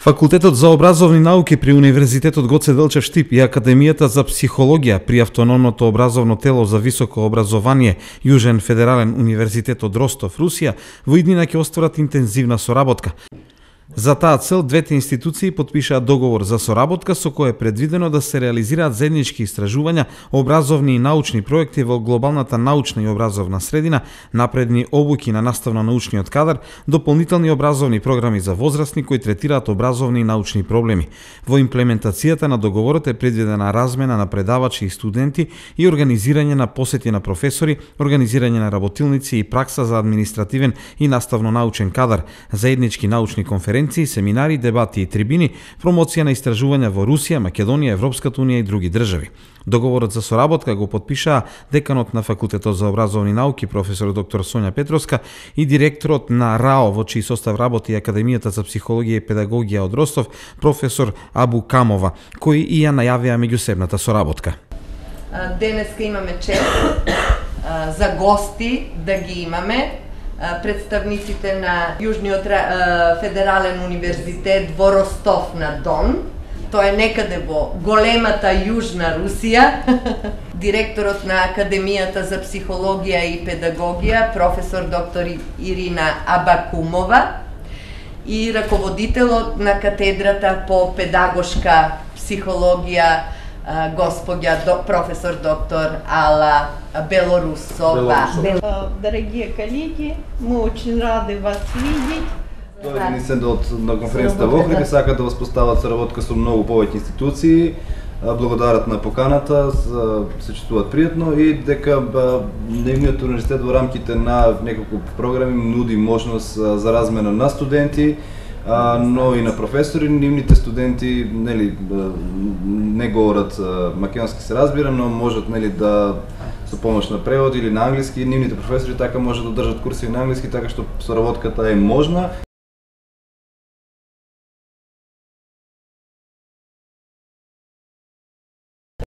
Факултетот за образовни науки при Универзитетот Гоце Делчев Штип и Академијата за психологија при Автономното образовно тело за високо образование Јужен федерален универзитет од Ростов, Русија, во иднина ќе остварат интензивна соработка. За таа цел, двете институции потпишаат договор за соработка со кој е предвидено да се реализираат заеднички истражувања, образовни и научни проекти во глобалната научна и образовна средина, напредни обуки на наставно-научниот кадар, дополнителни образовни програми за возрастни кои третираат образовни и научни проблеми. Во имплементацијата на договорот е предвидена размена на предавачи и студенти и организирање на посети на професори, организирање на работилници и пракса за административен и наставно-научен кадар, заеднички научни конференции, семинари, дебати и трибини, промоција на истражувања во Русија, Македонија, Европската унија и други држави. Договорот за соработка го потпишаа деканот на Факултетот за образовни науки професор доктор Сонја Петровска и директорот на РАО во чиј состав работи Академијата за психологија и педагогија од Ростов, професор Абу Камова, кои и ја најавија меѓусебната соработка. Денеска имаме чест за гости да ги имаме представниците на Јужниот федерален универзитет во Ростов на Дон. Тоа е некаде во големата Јужна Русија. Директорот на Академијата за психологија и педагогија, професор доктор Ирина Абакумова и раководителот на катедрата по педагошка психологија, госпоѓа професор доктор Алла Белорусова. Дорогие коллеги, мы очень рады вас видеть. Дојдени се на конференцијата во Охрид и сакаат да воспостават соработка со многу повеќе институции. Благодарат на поканата, се чувствуваат пријатно и дека нивниот универзитет во рамките на неколку програми нуди можност за размена на студенти, но и на професори. Нивните студенти не говорат македонски, се разбира, но можат да со помош на превод или на англиски. Нивните професори така можат да држат курси на англиски, така што соработката е можна